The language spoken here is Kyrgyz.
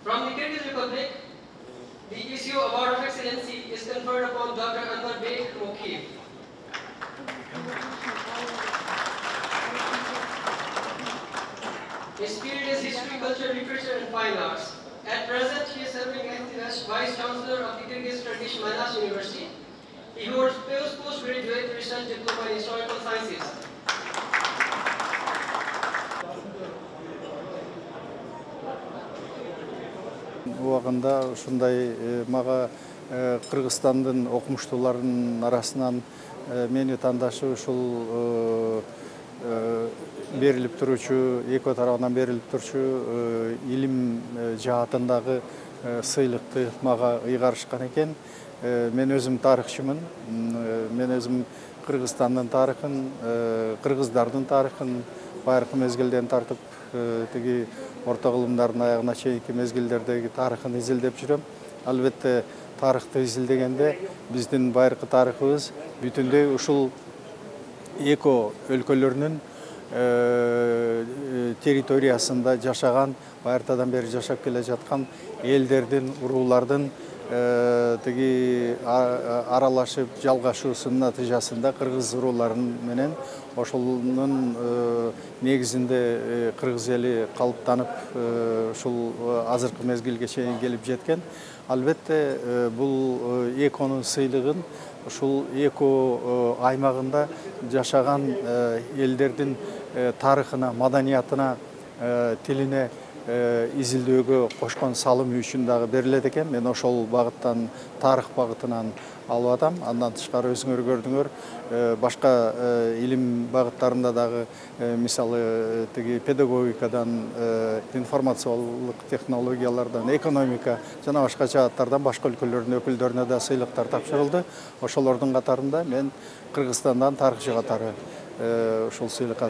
From the Kyrgyz Republic, the issue Award of Excellency is conferred upon Dr. Anwar Bey Mokiev. His field is history, culture, literature, and fine arts. At present, he is serving as the Vice Chancellor of the Kyrgyz Turkish Manas University. He holds postgraduate research diploma in historical sciences. Убагында ушундай мага Кыргызстандын окумуштууларынын арасынан мени тандашып ушул берилип туручу, эки тарабынан берилип турчу илим жаатындагы сыйлыкты мага ыйгарышкан экен. Мен өзүм тарыхчымын. Мен өзүм Кыргызстандын тарыхын, кыргыздардын тарыхын байыркы мезгилден тартып тиги орто кылымдардын аягына чейинки мезгилдердеги тарыхын изилдеп жүрөм. Албетте тарыхты изилдегенде биздин байыркы тарыхыбыз бүтүндөй ушул эки өлкөлөрүнүн территориясында жашаган, байыртадан бери жашап келе жаткан элдердин, уруулардын тиги аралашып жалгашуусунун натыйжасында кыргыз урууларын менен ошонун негизинде кыргыз эли калыптанып ушул азыркы мезгилге чейин келип жеткен. Албетте бул эконун сыйлыгын ушул эки аймагында жашаган элдердин тарыхына, маданиятына, тилине изилдөөгө кошкон салымы үчүн дагы берилет экен. Мен ошол багыттан, тарых багытынан алып атам. Андан тышкары өзүңөр көрдүңөр, башка илим багыттарында дагы, мисалы тиги педагогикадан, информациялык технологиялардан, экономика жана башка жааттардан башка өлкөлөрдүн өкүлдөрүнө да сыйлыктар тапшырылды. Ошолордун катарында мен Кыргызстандан тарыхчы катары ушул сыйлыкка